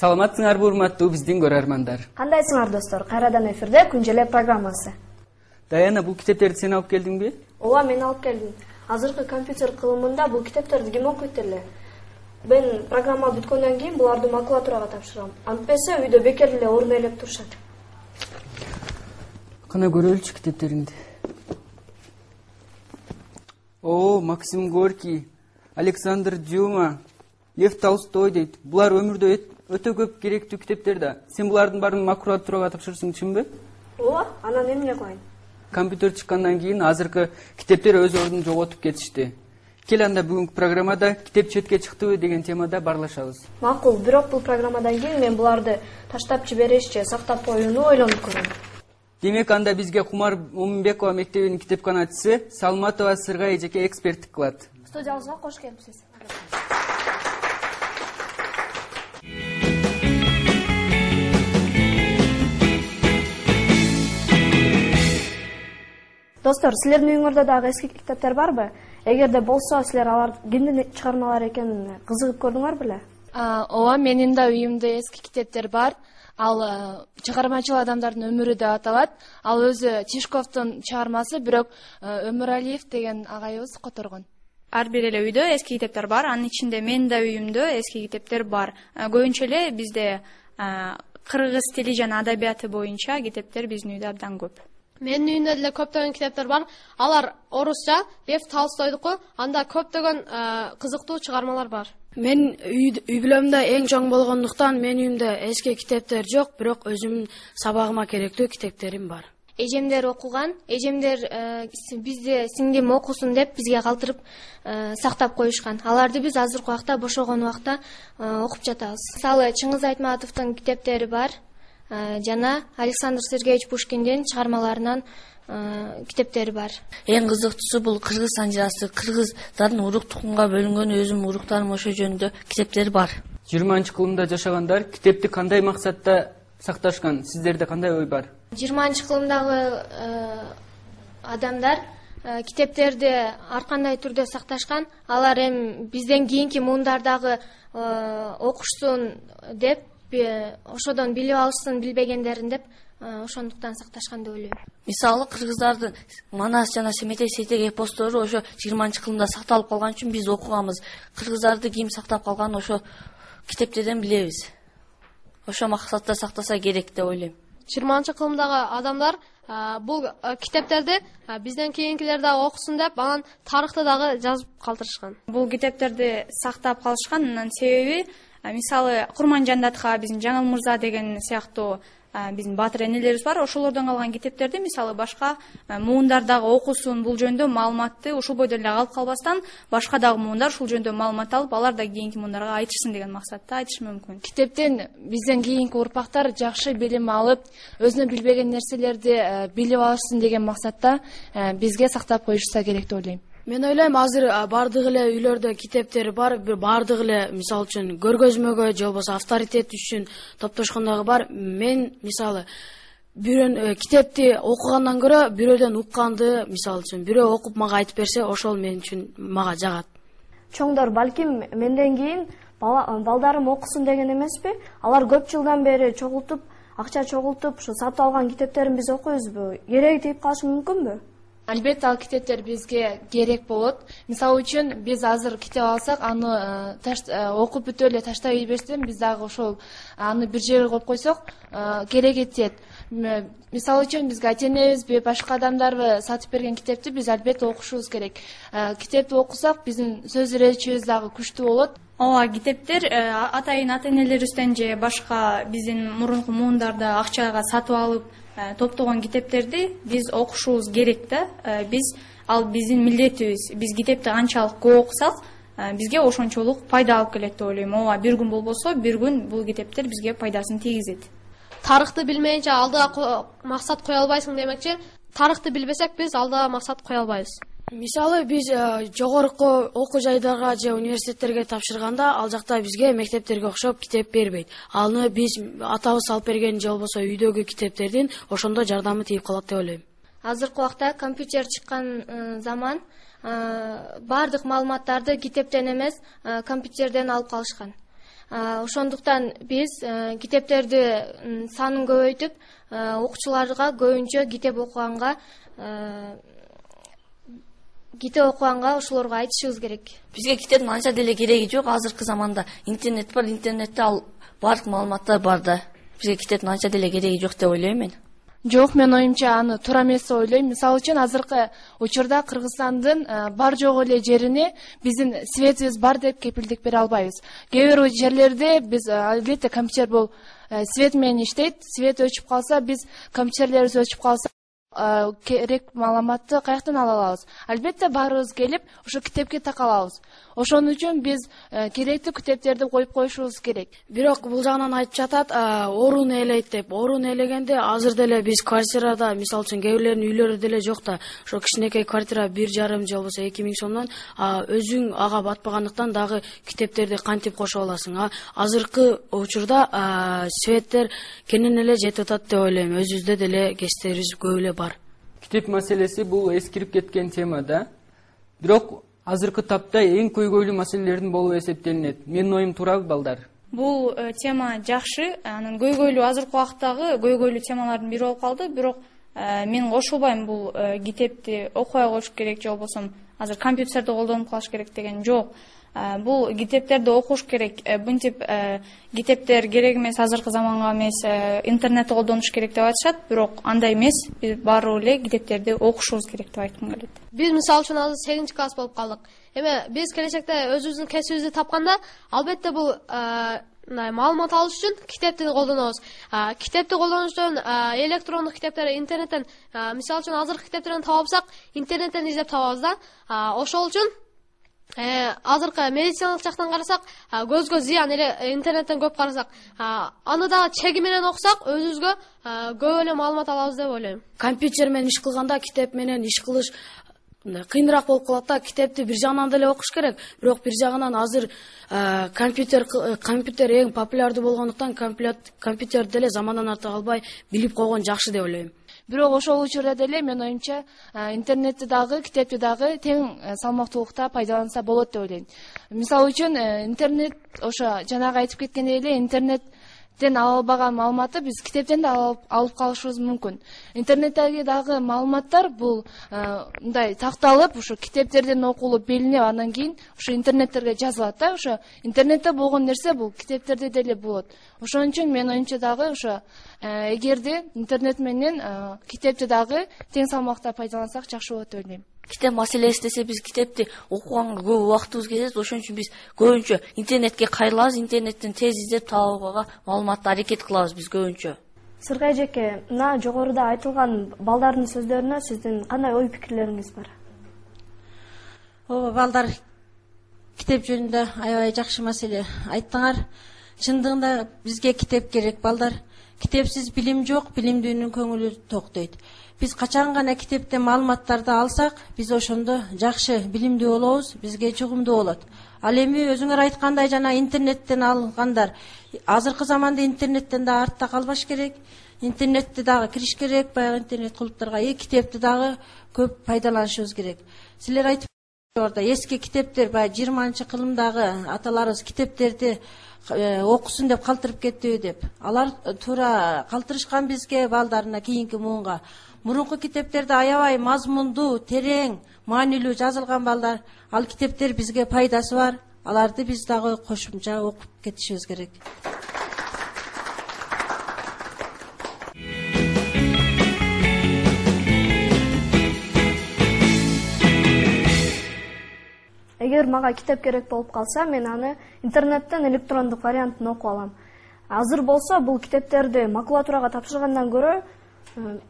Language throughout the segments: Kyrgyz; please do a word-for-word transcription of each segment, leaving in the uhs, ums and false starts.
Саламатсыңарбы урматтуу биздин көрөрмандар? Кандайсыңар достор? Кайрадан эфирде Күн желе программасы. Даяна, бул китептерди сен алып келдиңби? Ооба, мен алып келдим. Азыркы компьютер кылымында бул китептерди ким окуйт эле? Мен программа бүткөндөн кийин буларды макулатурага тапшырам. Антпесе үйдө бекер эле орун ээлеп турушат. Кана көрөлүчү китептериңди. О, Максим Горький, Александр Дюма, Лев Толстой дейт. Булар өмүрдө өтө көп керектүү китептер да. Сен булардын баарын макулатурага тапшырсың, чынбы? Ооба, анан эмне кылайын? Компьютер чыккандан кийин азыркы китептер өз ордун жоготуп кетишти. Кел анда бүгүнкү программада китеп четке чыктыбы деген темада барлашабыз. Макул, бирок бул программадан кийин мен буларды таштап жибериш же сактап коюуну ойлонуп көрөм. Демек анда бизге Кумар Момунбекова мектебинин китепканачысы Салматова Сыргай эжеке эксперттик кылат. Студиябызга кош келипсиз. Достор, силердин үйүңөрдө дагы эски китептер барбы? Эгерде болсо, силер алар кимдин чыгармалары экенин кызыгып көрдүңөр беле? Ооба, менин да үйүмдө эски китептер бар. Ал чыгармачыл адамдардын өмүрү деп аталат. Ал өзү Тишковдун чыгармасы, бирок Өмүралиев деген агайыбыз которгон. Ар бир эле үйдө эски китептер бар. Анын ичинде менин да үйүмдө эски китептер бар. Көбүнчө эле бизде кыргыз тили жана адабияты боюнча китептер биздин үйдө абдан көп. Менин үйүмдө деле көптөгөн китептер бар. Алар орусча, Лев Толстойдуку, анда көптөгөн кызыктуу чыгармалар бар. Мен үй бүлөмдө эң чоң болгондуктан менин үйүмдө эски китептер жок, бирок өзүмдүн сабагыма керектүү китептерим бар. Эжемдер окуган, эжемдер бизде сиңдим окусун деп бизге калтырып сактап коюшкан. Аларды биз азыркы убакта бошогон убакта окуп жатабыз. Мисалы, Чыңгыз Айтматовдун китептери бар жана Александр Сергеевич Пушкиндин чыгармаларынан китептери бар. Эң кызыктуусу бул кыргыз санжирасы. Кыргыздардын урук тукумга бөлүнгөн өзүм уруктарым ошо жөнүндө китептер бар. жыйырманчы кылымда жашагандар китепти кандай максатта сакташкан? Сиздерде кандай ой бар? жыйырманчы кылымдагы адамдар китептерди ар кандай түрдө сакташкан. Алар эми бизден кийинки муундардагы окушсун деп, ошодон билип алышсын билбегендерин деп ошондуктан сакташкан деп ойлойм. Мисалы, кыргыздардын Манас жана Семетей Сейтек эпостору ошо жыйырманчы кылымда сакталып калган үчүн биз окуганбыз. Кыргыздарды ким сактап калганын ошо китептерден билебиз. Ошо максатта сактаса керек деп ойлойм. жыйырманчы кылымдагы адамдар бул китептерди бизден кийинкилер дагы окусун деп, анан тарыхты дагы жазып калтырышкан. Бул китептерди сактап калышканын себеби, мисалы, Курманжандатка биздин Жаңыл Мырза деген сыяктуу биздин баатыр энелерибиз бар. Ошолордон калган китептерди мисалы башка муундар дагы окусун, бул жөнүндө маалыматты ушул бойдо эле калып калбастан, башка дагы муундар ушул жөнүндө маалымат алып, алар да кийинки муундарга айтышсын деген максатта айтыш мүмкүн. Китептен бизден кийинки урпактар жакшы билим алып, өзүнө билбеген нерселерди билип алышсын деген максатта бизге сактап коюшса керек деп ойлойм. Мен ойлойм, азыр бардык эле үйлөрдө китептер бар, бардык эле мисалы үчүн көргөзмөгө же болбосо авторитет үчүн топтошкондогу бар. Мен мисалы бирөө китепти окугандан көрө бирөөдөн укканды, мисалы үчүн бирөө окуп мага айтып берсе, ошол мен үчүн мага жагат. Чоңдор, балким менден кийин балдарым окусун деген эмеспи? Алар көп жылдан бери чогултуп, акча чогултуп, ушу сатып алган китептерин биз окуйбузбу? Кереги тийип калышы мүмкүнбү? Албетте, ал китептер бизге керек болот. Мисалы үчүн биз азыр китеп алсак, аны окуп бүтүп эле таштап ийбестен, биз дагы ошол аны бир жерге коюп койсок, кереги тиет. Мисалы үчүн бизге ата-энебиз, башка адамдарбы сатып берген китепти биз албетте окушубуз керек. Китепти окусак, биздин сөз иречибиз дагы күчтүү болот. Ооба, китептер атайын ата-энелерибизден же башка биздин мурунку муундарда акчага сатып алып топтогон китептерди биз окушубуз керек да. Биз ал биздин милдетибиз. Биз китепти канчалык көп окусак, бизге ошончолук пайда алып келет деп ойлойм. Ооба, бир күн болбосо, бир күн бул китептер бизге пайдасын тийгизет. Тарыхты билмейинче алдыга максат кое албайсың демекчи. Тарыхты билбесек, биз алдыга максат кое албайбыз. Мисалы, биз жогорку окуу жайдарга же университеттерге тапшырганда, ал жакта бизге мектептерге окшоп китеп бербейт. Аны биз атабыз алып берген же болбосо үйдөгү китептердин ошондо жардамы тийип калат деп ойлойм. Азыркы убакта компьютер чыккан заман бардык маалыматтарды китептен эмес, компьютерден алып калышкан. Ошондуктан биз китептерди санын көбөйтүп, окуучуларга көбүнчө китеп окуганга китеп окуганга ошолорго айтышыбыз керек. Бизге китептин анча деле кереги жок. Азыркы заманда интернет бар, интернетте ал бардык маалыматтар бар да. Бизге китептин анча деле кереги жок деп ойлойм мен. Жок, мен оюмча аны туура эмес деп ойлойм. Мисалы үчүн азыркы учурда Кыргызстандын бар жок эле жерине биздин светибиз бар деп кепилдик бере албайбыз. Кээ бир жерлерде биз албетте компьютер бул свет менен иштейт. Свет өчүп калса, биз компьютерлерибиз өчүп калса, керек маалыматты каяктан ала алабыз? Албетте баарыбыз келип, ошо китепке такалабыз. Ошон үчүн биз керектүү китептерди коюп коюшубуз керек. Бирок бул жагынан айтып жатат, орун ээлейт деп. Орун ээлегенде азыр деле биз квартирада, мисалы үчүн кээ бирлердин үйлөрү деле жок да, ошо кичинекей квартира бир жарым же болбосо эки миң сомдон өзүң ага батпагандыктан дагы китептерди кантип кошо аласың? Азыркы учурда светтер кенен эле жетип атат деп ойлойм. Өзүбүздө деле кечтерибиз көп эле бар. Китеп маселеси бул эскирип кеткен тема да. Бирок азыркы тапта эң көйгөйлүү маселелердин болуп эсептелинет. Менин оюм туурабы, балдар? Бул тема жакшы. Анын көйгөйлүү азыркы убактагы көйгөйлүү темалардын бири болуп калды. Бирок мен кошулбайм бул китепти окубай коюш керек же болбосо азыр компьютерди колдонуп калыш керек деген жок. Бул китептерди окуш керек. Мынтип китептер керек эмес, азыркы заманга эмес, интернетти колдонуш керек деп айтышат. Бирок андай эмес. Биз баары эле китептерди окушубуз керек деп айткым келет. Биз мисалы үчүн азыр сегизинчи класс болуп калдык. Эми биз келечекте өзүбүздүн кесибибизди тапканда, албетте бул мындай маалымат алыш үчүн китепти колдонобуз. Китепти колдонуш үчүн электрондук китептер, интернеттен, мисалы үчүн азыркы китептерди таба алсак, интернеттен издеп табабыз да. Ошол үчүн азыркы медициналык жактан карасак, көзгө зыян эле интернеттен көп карасак, аны дагы чеги менен окусак, өзүбүзгө көп эле маалымат алабыз деп ойлойм. Компьютер менен иш кылганда китеп менен иш кылыш кыйыныраак болуп калат да. Китепти бир жагынан деле окуш керек, бирок бир жагынан азыр компьютер компьютер эң популярдуу болгондуктан компьютер деле замандан арта калбай билип койгон жакшы деп ойлойм. Бирок ошол учурда деле мен оюмча интернетти дагы, китепти дагы тең салмактуулукта пайдаланса болот деп ойлойм. Мисалы үчүн интернет, ошо жанагы айтып кеткендей эле, интернеттен ала албаган маалыматты биз китептен да алып калышыбыз мүмкүн. Интернеттеги дагы маалыматтар бул мындай такталып, ошо китептерден окулуп, белинип, андан кийин ошо интернеттерге жазылат да. Ошо интернетте болгон нерсе бул китептерде деле болот. Ошон үчүн мен оюмча дагы ошо эгерде интернет менен китепти дагы тең салмакта пайдалансак жакшы болот деп ойлойм. Китеп маселеси десе, биз китепти окуганга көп убактыбыз кетет. Ошон үчүн биз көбүнчө интернетке кайрылабыз, интернеттен тез издеп табууга маалыматты аракет кылабыз биз көбүнчө. Сыргай эжеке, мына жогоруда айтылган балдардын сөздөрүнө сиздин кандай ой пикирлериңиз бар? Ооба, балдар, китеп жөнүндө аябай жакшы маселе айттыңар. Чындыгында бизге китеп керек, балдар. Китепсиз билим жок, билимдүүнүн көңүлү ток дейт. Биз качан гана китептен маалыматтарды алсак, биз ошондо жакшы билимдүү болобуз, бизге жугумдуу болот. Ал эми өзүңөр айткандай жана интернеттен алгандар, азыркы заманда интернеттен да артта калбаш керек. Интернетти дагы кириш керек, баягы интернет кулуптарга, и китепти дагы көп пайдаланышыбыз керек. Силер айтып орда эски китептер, баягы жыйырманчы кылымдагы аталарыбыз китептерди окусун деп калтырып кеттиби деп. Алар туура калтырышкан бизге, балдарына, кийинки муунга. Мурунку китептерде аябай мазмундуу, терең, маанилүү жазылган, балдар. Ал китептер бизге пайдасы бар. Аларды биз дагы кошумча окуп кетишибиз керек. Эгер мага китеп керек болуп калса, мен аны интернеттен электрондук вариантын окуп алам. Азыр болсо бул китептерди макулатурага тапшыргандан көрө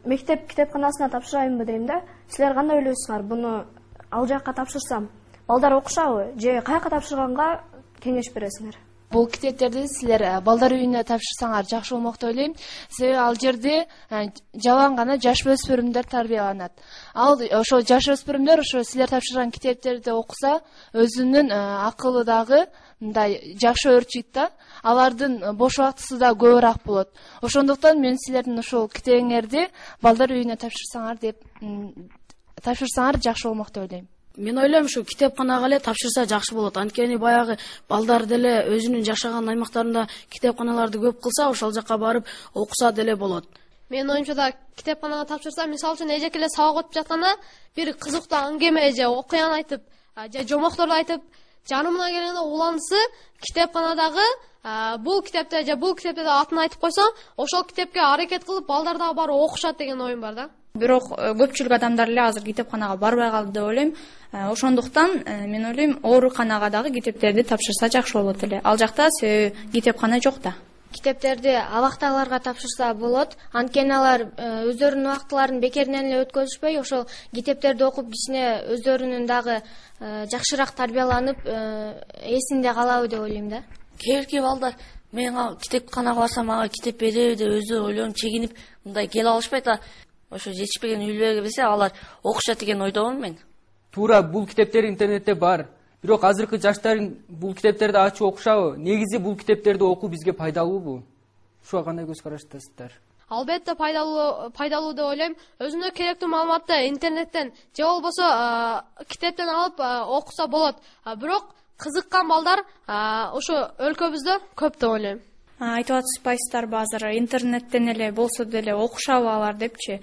мектеп китепканасына тапшырайынбы дейм да. Силер кандай ойлойсуңар? Буну ал жакка тапшырсам балдар окушабы же каяка тапшырганга кеңеш бересиңер? Бул китептерди силер балдар үйүнө тапшырсаңар жакшы болмок деп ойлойм. Себеби ал жерде жалаң гана жаш өспүрүмдөр тарбияланат. Ал ошо жаш өспүрүмдөр ошо силер тапшырган китептерди окуса, өзүнүн акылы дагы мындай жакшы өрчүйт да. Алардын бош убактысы да көбүрөөк болот. Ошондуктан мен силердин ошол китебиңерди балдар үйүнө тапшырсаңар деп тапшырсаңар жакшы болмок деп ойлойм. Мен ойлойм ушу китепканага эле тапшырса жакшы болот. Анткени баягы балдар деле өзүнүн жашаган аймактарында китепканаларды көп кылса, ошол жака барып окуса деле болот. Менин оюмча да китепканага тапшырса, мисалы үчүн эжеке эле сабак өтүп жатканда бир кызыктуу аңгеме же окуяны айтып, же жомокторду айтып, жанымына келгенде уландысы китепканадагы бул китепте же бул китепте атын айтып койсо, ошол китепке аракет кылып балдар дагы барып окушат деген оюм бар да. Бирок көпчүлүк адамдар эле азыр китепканага барбай калды деп ойлойм. Ошондуктан мен ойлойм ооруканага дагы китептерди тапшырса жакшы болот эле. Ал жакта себеби китепкана жок да. Китептерди абактагыларга тапшырса болот. Анткени алар өздөрүнүн убактыларын бекеринен эле өткөзүшпөй, ошол китептерди окуп кичине өздөрүнүн дагы жакшыраак тарбияланып, эсинде калабы деп ойлойм да. Кээинки балдар мен китепканага барсам мага китеп береби деп өзү ойлонуп чегинип мындай келе алышпайт да. Ошо жетишпеген үйлөргө берсе алар окушат деген ойдомун мен. Туура, бул китептер интернетте бар. Бирок азыркы жаштар бул китептерди ачып окушабы? Негизи бул китептерди окуу бизге пайдалуубу? Ушуга кандай көз караштасыздар? Албетте пайдалуу, пайдалуу деп ойлойм. Өзүнө керектүү маалыматты интернеттен же болбосо китептен алып окуса болот. Бирок кызыккан балдар ошо өлкөбүздө көп деп ойлойм. Айтып атышпайсыздарбы азыр интернеттен эле болсо деле окушабы алар депчи?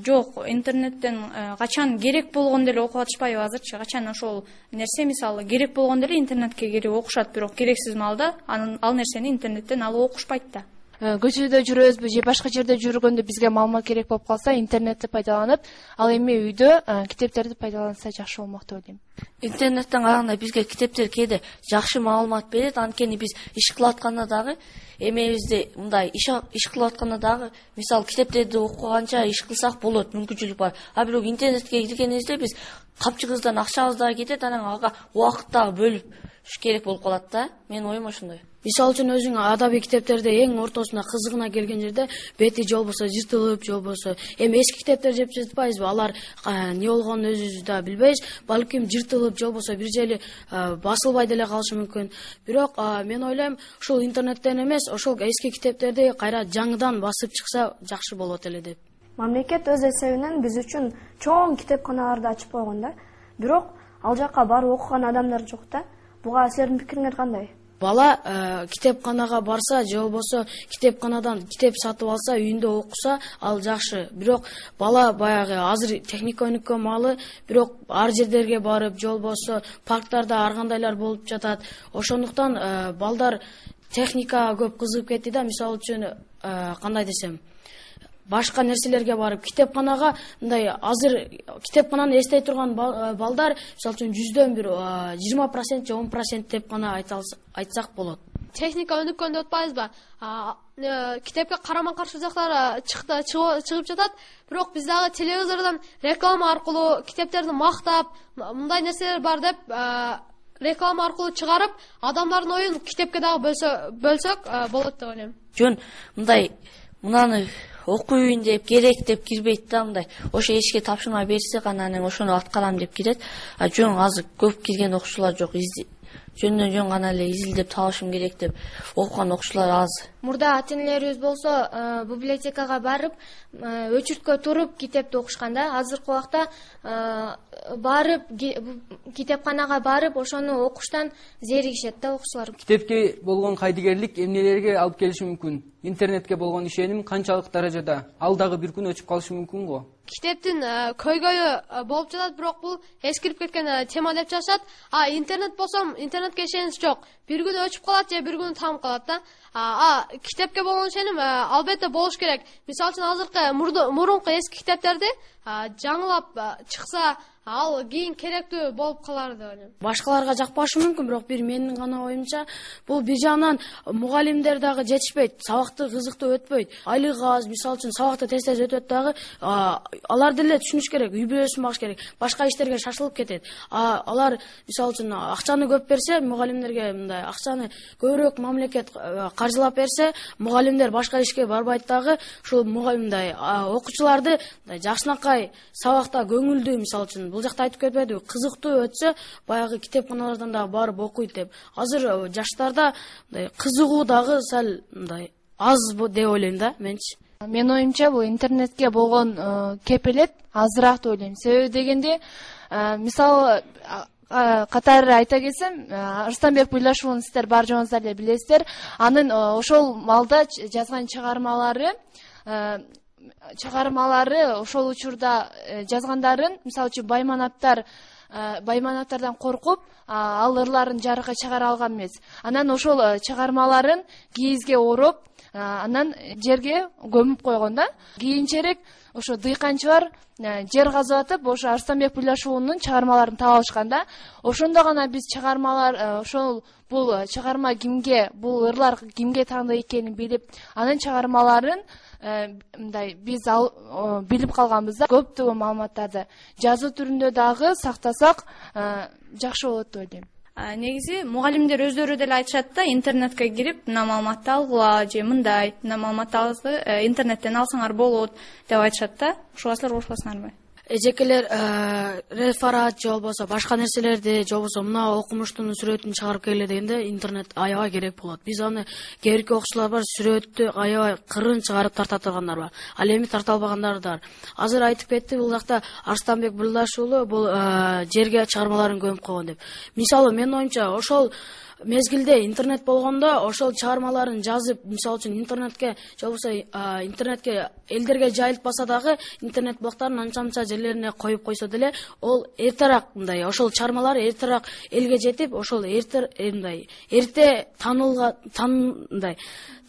Жок, интернеттен качан керек болгондо эле окуп атышпайбы азырчы? Качан ошол нерсе мисалы керек болгондо эле интернетке кирип окушат, бирок керексиз маалда ал нерсени интернеттен алып окушпайт да. Көчөдө жүрөбүзбү же башка жерде жүргөндө бизге маалымат керек болуп калса, интернетти пайдаланып, ал эми үйдө китептерди пайдаланса жакшы болмок деп ойлойм. Интернеттен караганда бизге китептер кээде жакшы маалымат берет, анткени биз иш кылып атканда дагы эмебизде мындай иш иш кылып атканда дагы мисалы китептерди окуганча иш кылсак болот, мүмкүнчүлүк бар. А бирок интернетке киргенибизде биз капчыгыбыздан акчабыз дагы кетет, анан ага убакыт дагы бөлүп керек болуп калат да. Менин оюм ошондой. Мисалы үчүн өзүң адабий китептерди эң ортосуна кызыгына келген жерде бети же болбосо жыртылып, же болбосо эми эски китептер жеп жатпайбызбы? Алар эмне болгонун өзүбүз да билбейбиз. Балким жыртылып же болбосо бир жери басылбай деле калышы мүмкүн. Бирок мен ойлойм, ушул интернеттен эмес, ошол эски китептерди кайра жаңыдан басып чыкса жакшы болот эле деп. Мамлекет өз эсебинен биз үчүн чоң китепканаларды ачып койгон да. Бирок ал жака барып окуган адамдар жок да. Буга силердин пикириңер кандай? Бала э, китепканага барса же болбосо китепканадан китеп сатып алса, үйүндө окуса, ал жакшы. Бирок бала баягы азыр техника өнүккөн маалы, бирок ар жерлерге барып, же болбосо парктарда ар кандайлар болуп жатат. Ошондуктан э, балдар техникага көп кызыгып кетти да. Мисалы үчүн э, кандай десем, башка нерселерге барып, китепканага мындай азыр китепкананы эстей турган балдар мисалы үчүн жүздөн бир жыйырма процент же он процент деп гана айтсак болот. Техника өнүккөн деп атпайбызбы? Китепке карама каршы жактар чыгып жатат, бирок биз дагы телевизордон реклама аркылуу китептерди мактап, мындай нерселер бар деп реклама аркылуу чыгарып, адамдардын оюн китепке дагы бөлсөк болот деп ойлойм. Жөн мындай мынаны окуйын деп керек деп кирбейт да, мындай ошо эшикке тапшырма берсе анан ошону аткарам деп кирет. А жөн азыр көп кирген окуучулар жок. Жөндөн жөн гана эле изилдеп табышым керек деп окуган окуучулар аз. Мурда ата-энелерибиз болсо библиотекага барып, өчүрткө туруп китепти окушканда, азыркы убакта барып китепканага барып ошону окуштан зеригишет да окуучулар. Китепке болгон кайдыгерлик эмнелерге алып келиши мүмкүн? Интернетке болгон ишеним канчалык даражада? Ал дагы бир күн өчүп калышы мүмкүн го? Китептин көйгөйү болуп жатат, бирок бул эскирип кеткен тема деп жатышат. А интернет болсом, интернетке ишенич жок. Бир күн өчүп калат же бир күн тамып калат да. А китепке болгон ишеним албетте болуш керек. Мисалы үчүн азыркы мурунку эски китептерди жаңылап чыкса, ал кийин керектүү болуп калар деп ойлойм. Башкаларга жакпашы мүмкүн, бирок бир менин гана оюмча, бул бир жагынан мугалимдер дагы жетишпейт, сабакты кызыктуу өтпөйт. Айлыгы аз, мисалы үчүн сабакты тез-тез өтөт дагы, алар деле түшүнүш керек, үй бүлөсүн багыш керек, башка иштерге шашылып кетет. А алар мисалы үчүн акчаны көп берсе, мугалимдерге мындай акчаны көбүрөөк мамлекет каржылап берсе, мугалимдер башка ишке барбайт дагы, ушул мугалимдай окуучуларды жакшынакай сабакта көңүлдүү, мисалы үчүн бул жакта айтып кетпедиби, кызыктуу өтсө, баягы китепканалардан дагы барып окуйт деп. Азыр жаштарда кызыгуу дагы сал мындай аз деп ойлойм да, менчи. Менин оюмча бул интернетке болгон кепилет азыраак деп ойлойм. Себеби дегенде мисалы катары айта келсем, Арыстанбек Буйлашуловун сиздер бар жоңуздар эле билесиздер. Анын ошол малда жазган чыгармалары чыгармалары ошол учурда жазгандарын, мисалы үчүн Байманаптар Байманаптардан коркуп, ал ырларын жарыкка чыгара алган эмес. Анан ошол чыгармаларын кийизге ороп, анан жерге көмүп койгон да. Кийинчерээк ошо дыйканчылар жер казып атып, ошо Арыстанбек Буйлашуулунун чыгармаларын таап алышкан да. Ошондо гана биз чыгармалар, ошол бул чыгарма кимге, бул ырлар кимге тандык экенин билип, анын чыгармаларын мындай биз билип калганбыз да. Көптөгөн маалыматтарды жазуу түрүндө дагы сактасак жакшы болот деп ойлойм. Негизи мугалимдер өздөрү деле айтышат да, интернетке кирип мына маалыматты алгыла же мындай, мына маалыматтарды интернеттен алсаңар болот деп айтышат да. Ушуга силер кошуласыңарбы? Эжекелер реферат же болбосо башка нерселерди же болбосо мына окумуштун сүрөтүн чыгарып келе дегенде интернет аябай керек болот. Биз аны кээбирки окуучулар бар, сүрөттү аябай кырын чыгарып тарта тургандар бар. Ал эми тарта албагандар да бар. Азыр айтып кетти, бул жакта Арыстанбек Буйлашуулу бул жерге чыгармаларын көмүп койгон деп. Мисалы менин оюмча ошол мезгилде интернет болгондо ошол чыгармаларын жазып, мисалы үчүн интернетке же болбосо интернетке элдерге жайылтпаса дагы интернет блоктарын анча-мынча жерлерине коюп койсо деле, ол эртерээк мындай ошол чыгармалар эртерээк элге жетип, ошол эрте мындай эрте таанылга мындай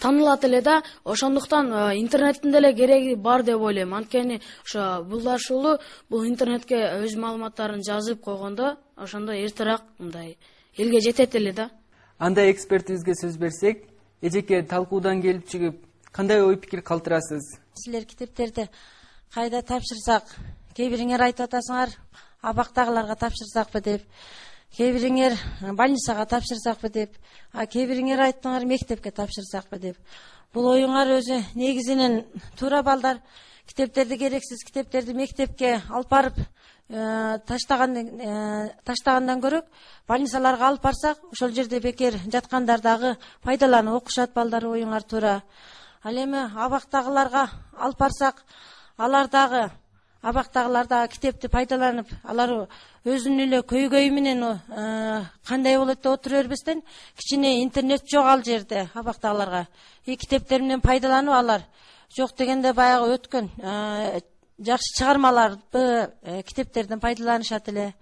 таанылат эле да. Ошондуктан интернеттин деле кереги бар деп ойлойм. Анткени ошо Буйлашуулу бул интернетке өз маалыматтарын жазып койгондо, ошондо эртерээк мындай элге жетет эле да. Андай экспертибизге сөз берсек, эжеке талкуудан келип чыгып, кандай ой пикир калтырасыз? Силер китептерди кайда тапшырсак, кээ бириңер айтып атасыңар, абактагыларга тапшырсакпы деп, кээ бириңер больницага тапшырсакпы деп, а кээ бириңер айттыңар мектепке тапшырсакпы деп. Бул оюңар өзү негизинен туура. Балдар китептерди керексиз китептерди мектепке алып барып таштаган таштагандан көрөк больницаларга алып барсак, ошол жерде бекер жаткандар дагы пайдаланып окушат. Балдар оюңар туура. Ал эми абактагыларга алып барсак, алар дагы абактагылар дагы китепти пайдаланып, алар өзүнүн эле көйгөйү менен кандай болот деп отура бербестен, кичине интернет жок ал жерде абактагыларга. И китептер менен пайдаланып, алар жок дегенде баягы өткөн жакшы чыгармаларды китептерден пайдаланышат эле.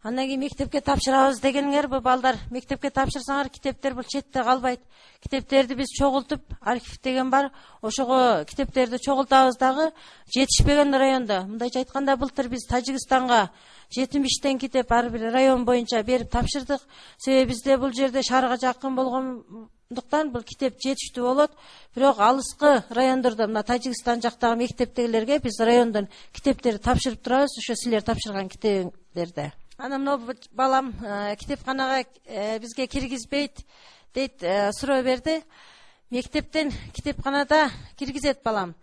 Андан кийин мектепке тапшырабыз дегениңер, бу балдар мектепке тапшырсаңар, китептер бул четте калбайт. Китептерди биз чогултуп, архив деген бар, ошого китептерди чогултабыз дагы жетишпеген райондо. Мындайча айтканда, былтыр биз Тажикстанга жетимиштен китеп ар бир район боюнча берип тапшырдык. Себеби бизде бул жерде шаарга жакын болгондуктан бул китеп жетиштүү болот. Бирок алыскы райондордо, мына Тажикстан жактагы мектептегилерге биз райондон китептерди тапшырып турабыз, ошо силер тапшырган китебиңерди. Ана мына балам китепканага бизге киргизбейт дейт, суроо берди. Мектептен китепканада киргизет балам.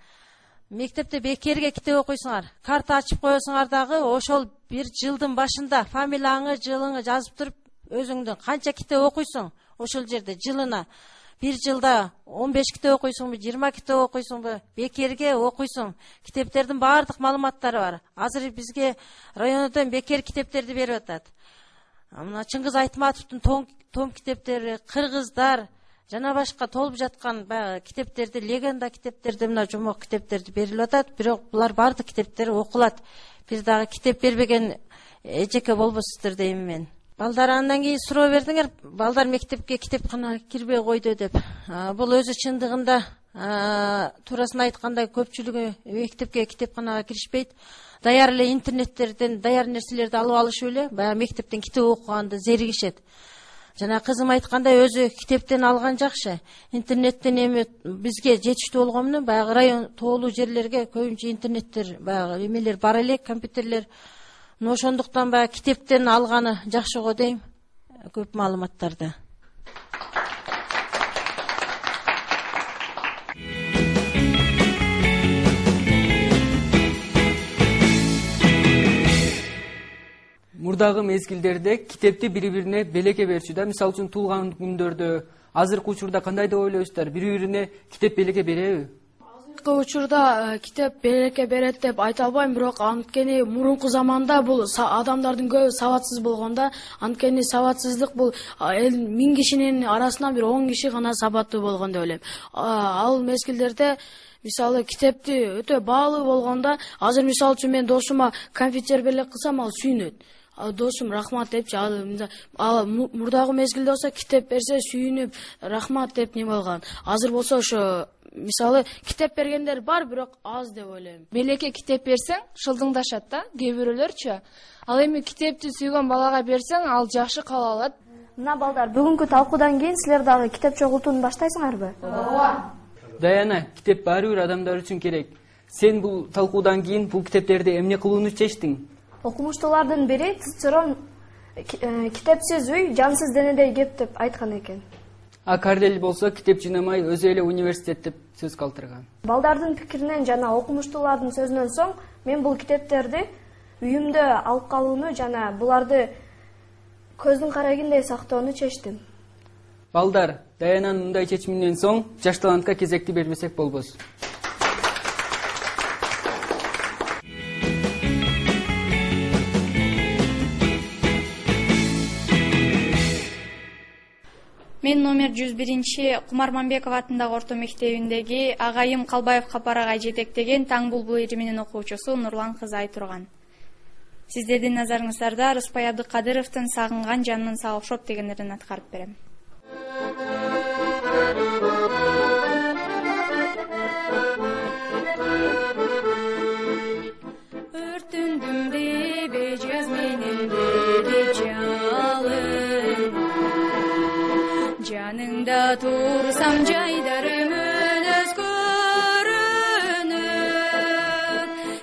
Мектепте бекерге китеп окуйсуңар, карта ачып коесуңар дагы, ошол бир жылдын башында фамилияңы, жылыңы жазып туруп, өзүңдүн канча китеп окуйсуң, ошол жерде жылына бир жылда он беш китеп окуйсуңбу, жыйырма китеп окуйсуңбу, бекерге окуйсуң. Китептердин баардык маалыматтары бар. Азыр бизге райондон бекер китептерди берип атат. Мына Чыңгыз Айтматовдун том, том китептери, кыргыздар жана башка толуп жаткан баягы китептерди, легенда китептерди, мына жомок китептерди берилип атат. Бирок булар баардык китептер окулат. Бир дагы китеп бербеген эжеке болбосуздар дейм мен. Балдар андан кийин суроо бердиңер, балдар мектепке китепканага кирбей койду деп. Бул өзү чындыгында туурасын айтканда көпчүлүгү мектепке китепканага киришпейт. Даяр эле интернеттерден даяр нерселерди алып алышып эле баягы мектептен китеп окуганды зеригишет. Жана кызым айткандай, өзү китептен алган жакшы. Интернеттен эми бизге жетиштүү болгону менен баягы район тоолуу жерлерге көбүнчө интернеттер, баягы эмелер бар эле, компьютерлер. Но ошондуктан баягы китептен алганы жакшы го дейм, көп маалыматтарды. Мурдагы мезгилдерде китепти бири-бирине белекке берчү да. Мисалы үчүн туулган күндөрдө, азыркы учурда кандай деп ойлойсуздар? Бири-бирине китеп белекке береби? азыркы учурда китеп береке берет деп айта албайм, бирок анткени мурунку заманда бул адамдардын көбү сабатсыз болгондо, анткени сабатсыздык бул эл миң кишинин арасынан бир он киши гана сабаттуу болгон деп ойлойм. Ал мезгилдерде мисалы китепти өтө баалуу болгондо, азыр мисалы үчүн мен досума компьютер белек кылсам, ал сүйүнөт. Досум рахмат депчи, ал мурдагы мезгилде болсо китеп берсе сүйүнүп рахмат деп не болгон. Азыр болсо ошо мисалы китеп бергендер бар, бирок аз деп ойлойм. Белекке китеп берсең шылдыңдашат да, кээ бирөөлөрчү. Ал эми китепти сүйгөн балага берсең, ал жакшы кала алат. Мына балдар, бүгүнкү талкуудан кийин силер дагы китеп чогултууну баштайсыңарбы? Ооба. Даяна, китеп баары бир адамдар үчүн керек. Сен бул талкуудан кийин бул китептерди эмне кылууну чечтиң? Окумуштуулардын бири Цицерон китепсиз үй жансыз денедей кеп деп айткан экен. А Кардель болсо китеп жыйнамай өзү эле университет деп сөз калтырган. Балдардын пикиринен жана окумуштуулардын сөзүнөн соң мен бул китептерди үйүмдө алып калууну жана буларды көздүн карагиндей сактоону чечтим. Балдар, Даянанын мындай чечиминен соң жаш талантка кезекти бербесек болбос. Мен номер жүз биринчи Кумарманбеков атындагы орто мектебиндеги Агайым Калбаев Капарагай жетектеген Таң булбул ириминин окуучусу Нурлан кызы Айтурган. Сиздердин назарыңыздарда Рыспай Абдыкадыровдун Сагынган жаным сага окшоп дегендерин аткарып берем. Өртүндүм дебе жаз менен деле жалын, жаныңда турсам жайдарым өнөз көрүнөт,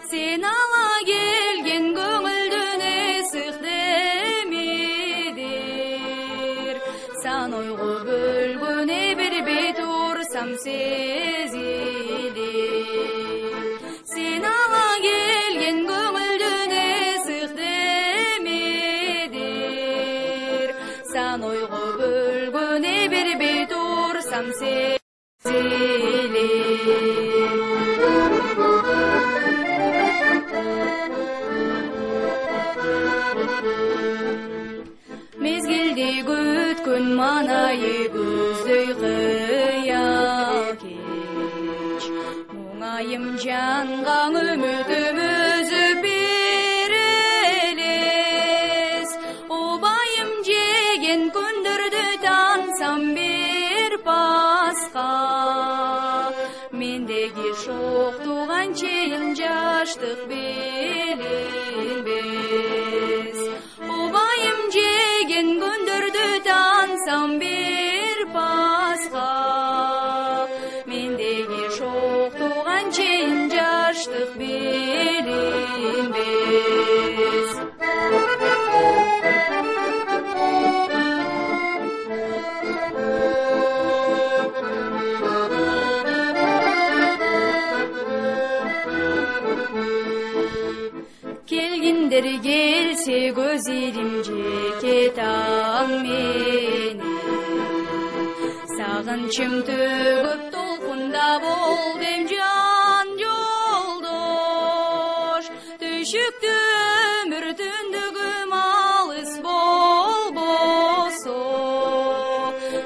сен ала келген көңүлдүн эсик демидир, сан ойго бөлгөнө бербей турсам сезилир, сен ала келген көңүлдүн эсик демидир, сан ойго бөлгөнө бербей турсам сезилир. Мезгилди күткөн манайы көздөй кыя кеч, муңайым жанга үмүтүм өзүп берелес, обайым жеген күндөрдү тансам бир паска, мендеги шоктуган чейин жаштык билинбес, обайым жеген күндөрдү тансам бир паска, мендеги шоктуган чейин жаштык билинбес. Келгиндер келсе көз ирим жеке таң менен, сагынчым төгүп толкунда болдум жан жолдош, түшүктү өмүр түндүгүм алыс болбосо,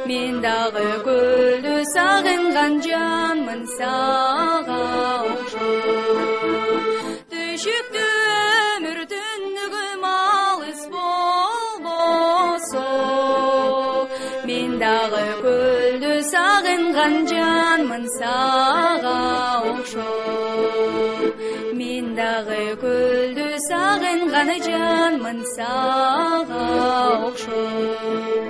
мен дагы көлдү сагынган жанмын сага окшоп, түшүктү өмүр түндүгүм алыс болбосо, мен дагы көлдү сагынган жанмын сага окшоп, мен дагы көлдү сагынган жанмын сага окшоп.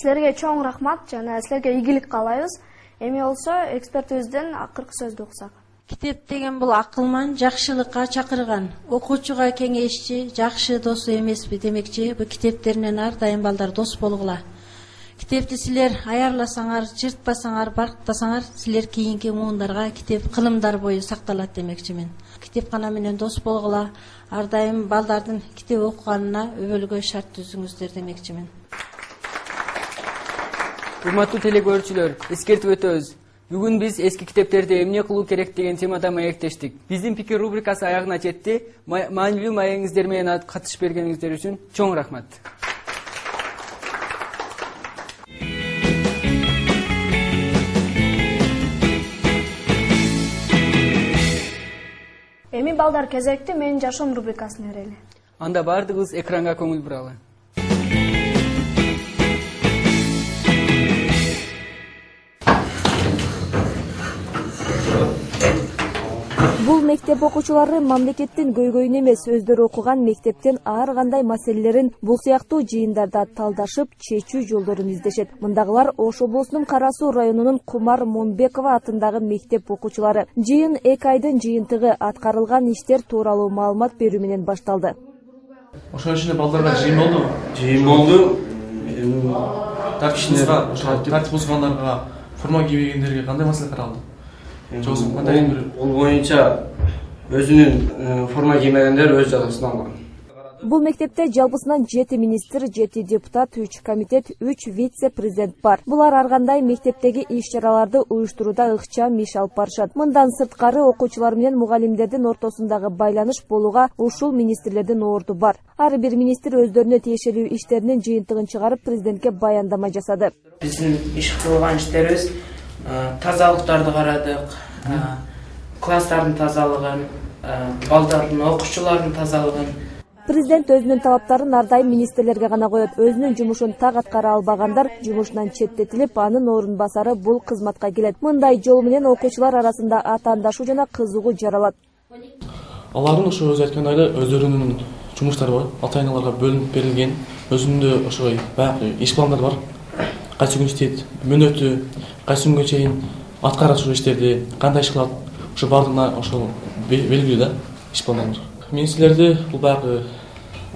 Силерге чоң рахмат жана силерге ийгилик каалайбыз. Эми болсо экспертибизден акыркы сөздү уксак. Китеп деген бул акылман, жакшылыкка чакырган, окуучуга кеңешчи, жакшы досу эмеспи демекчи, бу китептеринен ар дайым балдар дос болгула. Китепти силер аярласаңар, жыртпасаңар, барктасаңар, силер кийинки муундарга китеп кылымдар бою сакталат демекчимин. Китепкана менен дос болгула, ар дайым балдардын китеп окуганына өбөлгө шарт түзүңүздөр демекчимин. Урматтуу телекөрүүчүлөр, эскертип өтөбүз. Бүгүн биз эски китептерди эмне кылуу керек деген темада маектештик. Биздин пикир рубрикасы аягына жетти. Маанилүү маегиңиздер менен катышып бергениңиздер үчүн чоң рахмат. Эми балдар кезекти менин жашоом рубрикасын берели. Анда баардыгыбыз экранга көңүл буралы. Бул мектеп окуучулары мамлекеттин көйгөйүн эмес, өздөрү окуган мектептин ар кандай маселелерин бул сыяктуу жыйындарда талдашып, чечүү жолдорун издешет. Мындагылар Ош облусунун Кара Суу районунун Кумар Момбекова атындагы мектеп окуучулары. Жыйын эки айдын жыйынтыгы аткарылган иштер тууралуу маалымат берүү менен башталды. Ошон ичинде балдарга жыйын болду. Жыйын болду. Тартип бузгандарга, форма кийбегендерге кандай маселе каралды? Ол боюнча өзүнүн форма киймегендер өз жазасын алган. Бул мектепте жалпысынан жети министр, жети депутат, үч комитет, үч вице-президент бар. Булар ар кандай мектептеги иш-чараларды уюштурууда ыкчам иш алып барышат. Мындан сырткары окуучулар менен мугалимдердин ортосундагы байланыш болууга ушул министрлердин орду бар. Ар бир министр өздөрүнө тиешелүү иштеринин жыйынтыгын чыгарып президентке баяндама жасады. Биздин иш кылган иштерибиз тазалыктарды карадык, класстардын тазалыгын, балдардын, окуучулардын тазалыгын. Президент өзүнүн талаптарын ар дайым министрлерге гана коет. Өзүнүн жумушун так аткара албагандар жумушунан четтетилип, анын орун басары бул кызматка келет. Мындай жол менен окуучулар арасында атаандашуу жана кызыгуу жаралат. Алардын ошо өзү айткандай эле өздөрүнүн жумуштары бар, ата-аналарга бөлүнүп берилген, өзүндө ошо баягы иш пландары бар. Кайсы күн иштейт, мөөнөтү, кайсы күнгө чейин аткарат ушул иштерди, кандай иш кылат, ошо баардыгына ошол белгилүү да иш пландар. Министрлерде бул баягы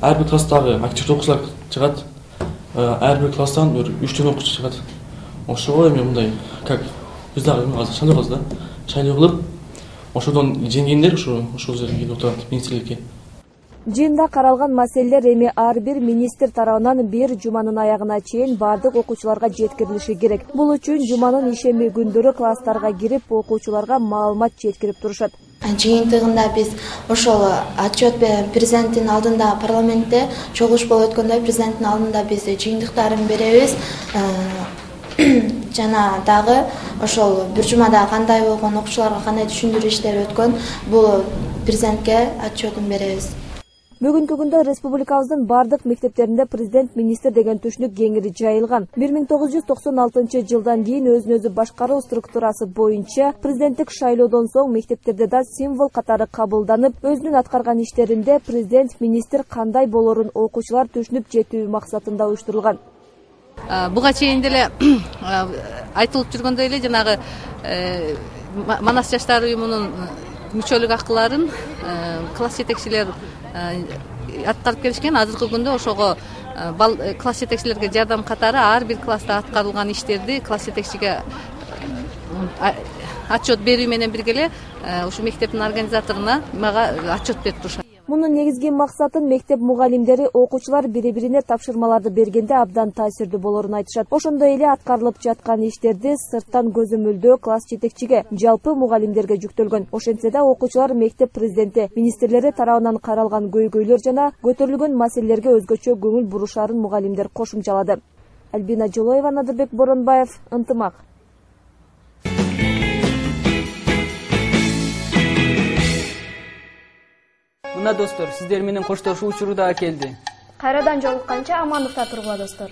ар бир класстагы активдүү окуучулар чыгат, ар бир класстан бир үчтөн окуучу чыгат. Ошого эми мындай, как биз дагы азыр шайлоо кылабыз да, шайлоо кылып, ошодон жеңгендер ошо ошол жерге келип отурат министрликке. Жыйында каралган маселелер эми ар бир министр тарабынан бир жуманын аягына чейин бардык окуучуларга жеткирилиши керек. Бул үчүн жуманын ишемби күндөрү класстарга кирип, окуучуларга маалымат жеткирип турушат. Жыйынтыгында биз ошол отчет президенттин алдында парламентте чогулуш болуп өткөндө президенттин алдында биз жыйынтыктарын беребиз. Жана дагы ошол бир жумада кандай болгон, окуучуларга кандай түшүндүрүү иштери өткөн, бул президентке отчетун беребиз. Бүгүнкү күндө республикабыздын бардык мектептеринде президент министр деген түшүнүк кеңири жайылган. бир миң тогуз жүз токсон алтынчы жылдан кийин өзүн өзү башкаруу структурасы боюнча президенттик шайлоодон соң мектептерде да символ катары кабылданып, өзүнүн аткарган иштеринде президент министр кандай болорун окуучулар түшүнүп жетүү максатында уюштурулган. Буга чейин деле айтылып жүргөндөй эле жанагы Манас жаштар уюмунун мүчөлүк акыларын класс жетекчилер аткарып келишкен. Азыркы күндө ошого класс жетекчилерге жардам катары ар бир класста аткарылган иштерди класс жетекчиге отчет берүү менен бирге эле ушу мектептин организаторуна мага отчет берип турушат. Мунун негизги максатын мектеп мугалимдери окуучулар бири-бирине тапшырмаларды бергенде абдан таасирдүү болорун айтышат. Ошондой эле аткарылып жаткан иштерди сырттан көзөмөлдөө класс жетекчиге, жалпы мугалимдерге жүктөлгөн. Ошентсе да окуучулар мектеп президенти, министрлери тарабынан каралган көйгөйлөр жана көтөрүлгөн маселелерге өзгөчө көңүл бурушарын мугалимдер кошумчалады. Альбина Жолоева, Надырбек Боронбаев, Ынтымак. Мына достор, сиздер менен коштошуу учуру да келди. Кайрадан жолукканча амандыкта тургула достор.